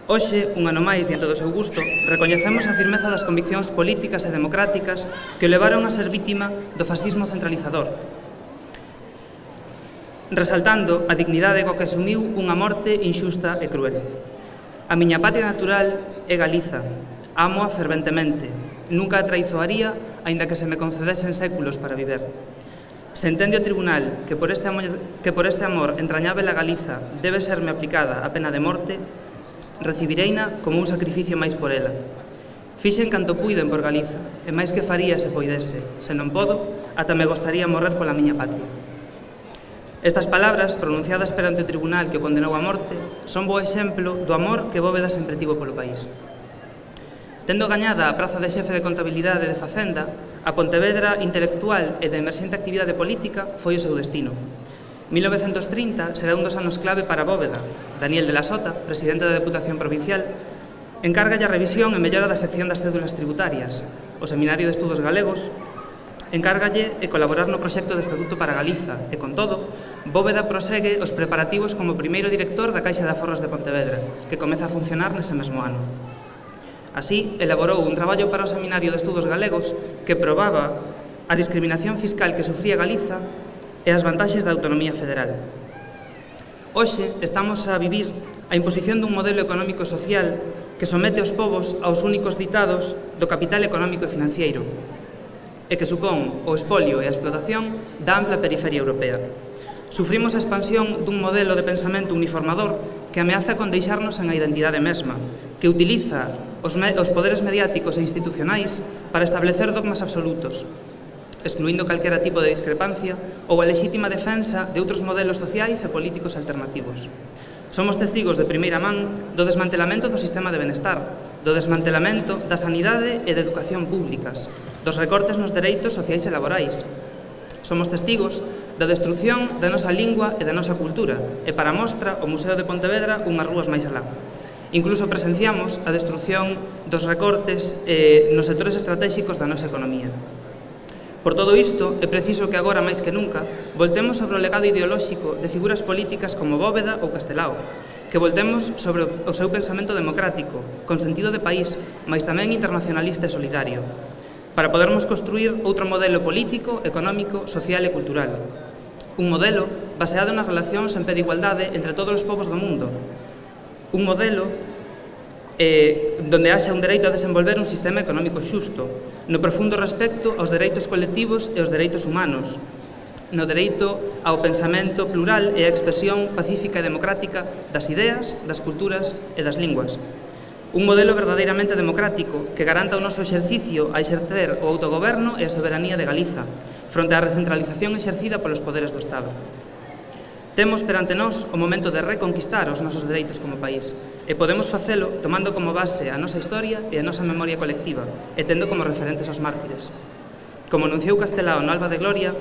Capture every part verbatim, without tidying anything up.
Hoxe, un ano máis diante do seu gusto, recoñecemos a firmeza das conviccións políticas e democráticas que o levaron a ser vítima do fascismo centralizador, resaltando a dignidade coa que asumiu unha morte inxusta e cruel. A miña patria natural é Galiza, ámoa ferventemente, nunca a traizoaría, aínda que se me concedesen séculos para viver. Se entende o tribunal que por este amor, que por este amor entrañável a Galiza debe serme aplicada a pena de morte, recibireina como un sacrificio máis por ela. Fixen canto puiden por Galiza, e máis que faría se poidese. Se non podo, ata me gostaría morrer pola miña patria. Estas palabras, pronunciadas perante o tribunal que o condenou a morte, son bo exemplo do amor que Bóveda sempre tivo polo país. Tendo gañada a praza de xefe de contabilidade de Facenda, a Pontevedra intelectual e de emerxente actividade política foi o seu destino. mil novecentos trinta será un dos anos clave para Bóveda. Daniel de la Sota, presidente da Deputación Provincial, encárgalle a revisión e mellora da sección das cédulas tributarias. O Seminario de Estudos Galegos encárgalle e colaborar no proxecto de Estatuto para Galiza e, con todo, Bóveda prosegue os preparativos como primeiro director da Caixa de Aforros de Pontevedra, que comeza a funcionar nese mesmo ano. Así, elaborou un traballo para o Seminario de Estudos Galegos que probaba a discriminación fiscal que sufría Galiza e as vantaxes da autonomía federal. Hoxe estamos a vivir a imposición dun modelo económico e social que somete os povos aos únicos ditados do capital económico e financiero e que supón o espolio e a explotación da ampla periferia europea. Sufrimos a expansión dun modelo de pensamento uniformador que ameaza con deixarnos en a identidade mesma, que utiliza os, os poderes mediáticos e institucionais para establecer dogmas absolutos, excluindo calquera tipo de discrepancia ou a lexítima defensa de outros modelos sociais e políticos alternativos. Somos testigos de primeira man do desmantelamento do sistema de benestar, do desmantelamento da sanidade e da educación públicas, dos recortes nos dereitos sociais e laborais. Somos testigos da destrucción da nosa lingua e da nosa cultura, e para mostra o Museo de Pontevedra unhas rúas máis alá. Incluso presenciamos a destrucción dos recortes eh, nos sectores estratégicos da nosa economía. Por todo isto, é preciso que agora, máis que nunca, voltemos sobre o legado ideolóxico de figuras políticas como Bóveda ou Castelao, que voltemos sobre o seu pensamento democrático, con sentido de país, mais tamén internacionalista e solidario, para podermos construir outro modelo político, económico, social e cultural. Un modelo baseado nas relacións en pé de igualdade entre todos os povos do mundo. Un modelo Eh, donde haxa un dereito a desenvolver un sistema económico xusto, no profundo respecto aos dereitos colectivos e aos dereitos humanos, no dereito ao pensamento plural e á expresión pacífica e democrática das ideas, das culturas e das linguas. Un modelo verdadeiramente democrático que garanta o noso exercicio a exercer o autogoberno e a soberanía de Galiza, fronte á recentralización exercida polos poderes do Estado. Temos perante nós o momento de reconquistar os nosos dereitos como país e podemos facelo tomando como base a nosa historia e a nosa memoria colectiva e tendo como referentes os mártires. Como anunciou Castelao no Alba de Gloria,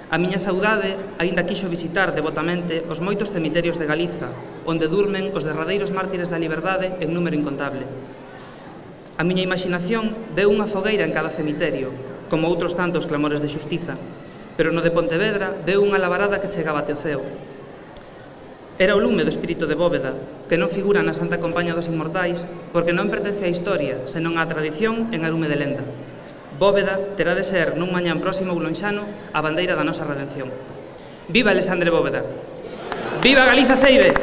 a miña saudade aínda quixo visitar devotamente os moitos cemiterios de Galiza, onde durmen os derradeiros mártires da liberdade en número incontable. A miña imaginación veu unha fogueira en cada cemiterio, como outros tantos clamores de xustiza, pero no de Pontevedra veu unha labarada que chegaba até o ceo. Era o lume do espírito de Bóveda, que non figura na Santa Compaña dos Inmortais porque non pertence á historia, senón á tradición en arume de lenda. Bóveda terá de ser nun mañán próximo oulonxano a bandeira da nosa redención. Viva Alexandre Bóveda! Viva Galiza Ceibe!